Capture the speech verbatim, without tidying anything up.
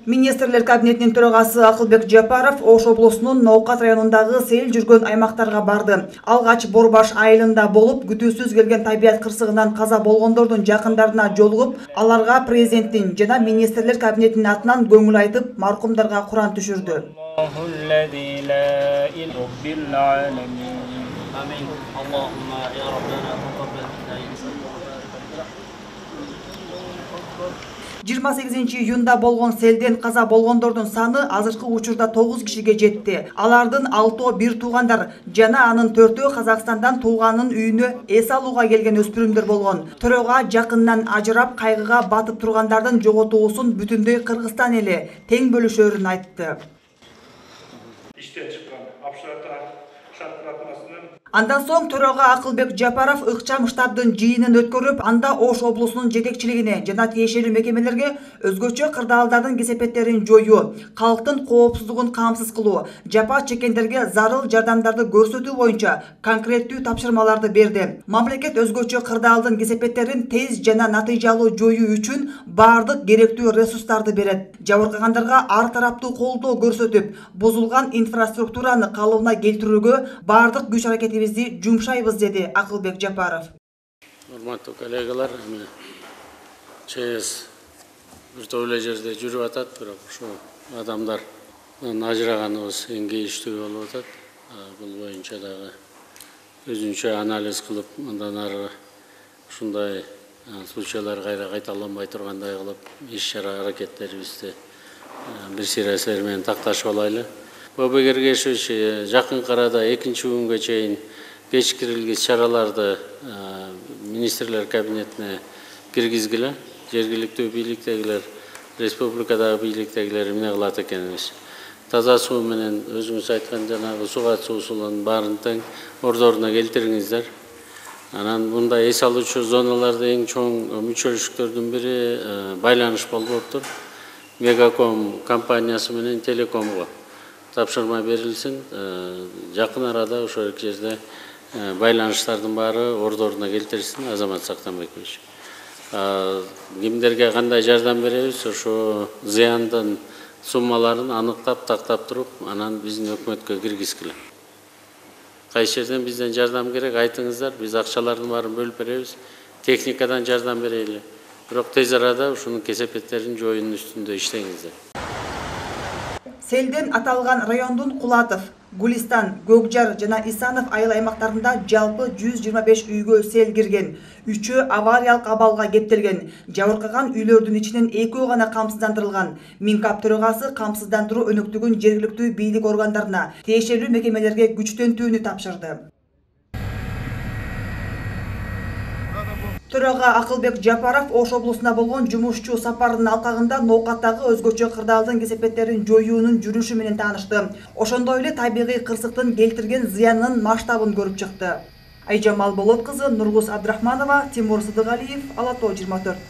Министрлер кабинетинин төрагасы Акылбек Жапаров Ош облусунун Ноокат районундагы сел жүргөн аймактарга барды. Алгач Борбаш айылында болуп, күтүүсүз келген табият кырсыгынан каза болгондордун жакындарына жолугуп, аларга президенттин жана министрлер кабинетинин атынан көңүл айтып, маркумдарга Куран түшүрдү. жыйырма сегизинчи июнда болгон селден каза болгондордун саны азыркы учурда тогуз кишиге жетти. Алардын алтоо бир туугандар жана анын төртөө Казакстандан тууганын үйүнө эс алууга келген өспүрүмдөр болгон. Төрөгө жакындан ажырап, кайгыга батып тургандардын жоготуусун бүтүндөй Кыргызстан эли тең бөлүшөрүн айтты. Иштен чыккан абшаттар шартратмасынын Андан соң төрөгө Акылбек Жапаров ыкчам штабдын жыйынын өткөрүп, анда Ош облусунун жетекчилигине жана тиешелүү мекемелерге өзгөчө кырдаалдардын кесепеттерин жоюу, калктын коопсуздугун камсыз кылуу, жапа чеккендерге зарыл жардамдарды көрсөтүү боюнча конкреттүү тапшырмаларды берди. Мамлекет өзгөчө кырдаалдын кесепеттерин тез жана натыйжалуу жоюу үчүн бардык керектүү ресурстарды берет. Жабыркагандарга ар тараптуу колдоо көрсөтүп, бузулган инфраструктураны калыбына келтирүүгө бардык күч аракетибизди жумшайбыз, деди Акылбек Жапаров. Урматтуу коллегалар, ЧС бир топ эле жерде жүрүп атат, бирок ушу адамдар ажыраганыбыз эң кейиштүү болуп атат. Бул боюнча дагы өзүнчө анализ кылып, андан ары ушундай случайлар кайра кайталанбай тургандай кылып, иш-чара аракеттерибизди бир сирасылар менен такташып алайлы. Бобек Эргешевич жакынкы арада экинчи күнгө чейин кечкирилгис чараларды министрлер кабинетине киргизгиле. Жергиликтүү бийликтегилер, республикадагы бийликтегилер эмне кылат экенбиз. Таза суу менен өзүңүз айткан жанагы суу катуу суунун баарын тең ордоруна келтириңиздер. Анан мындай эс алуучу зоналарда эң чоң мүчөлүштөрдүн бири байланыш болуптур. Мегаком компаниясы менен Телекомго тапшырма берилсин. Жакын арада ошол эки жерде байланыштардын баары ордоруна келтирилсин. Азамат Сактанбекович. Кимдерге кандай жардам беребиз, ошо зыяндын суммаларын аныктап, тактап туруп, анан биздин өкмөткө киргизгиле. Кайсы жерден бизден жардам керек, айтыңыздар, биз акчалардын баарын бөлүп беребиз. Техникадан жардам берели. Бирок тез арада ушунун кесепеттерин жоюунун үстүндө иштеңиздер. Селден аталган райондун Кулатов, Гулистан, Көкжар жана Исанов айыл аймактарында жалпы жүз жыйырма беш үйгө сел кирген, үчөө авариялык абалга кептелген. Жабыркаган үйлөрдүн ичинен экөө гана камсыздандырылган. Минкап төрагасы камсыздандыруу өнөктүгүн жергиликтүү бийлик органдарына, тиешелүү мекемелерге күчтөнтүүнү тапшырды. Төрага Акылбек Жапаров Ош облусуна болгон жумушчу сапарынын алкагында Ноокаттагы өзгөчө кырдаалдын кесепеттерин жоюунун жүрүшү менен таанышты. Ошондой эле табигый кырсыктын келтирген зыянынын масштабын көрүп чыкты. Айжамал Болот кызы, Нургуз Абдрахманова, Тимур Сыдыгалиев, Ала Тоо жыйырма төрт.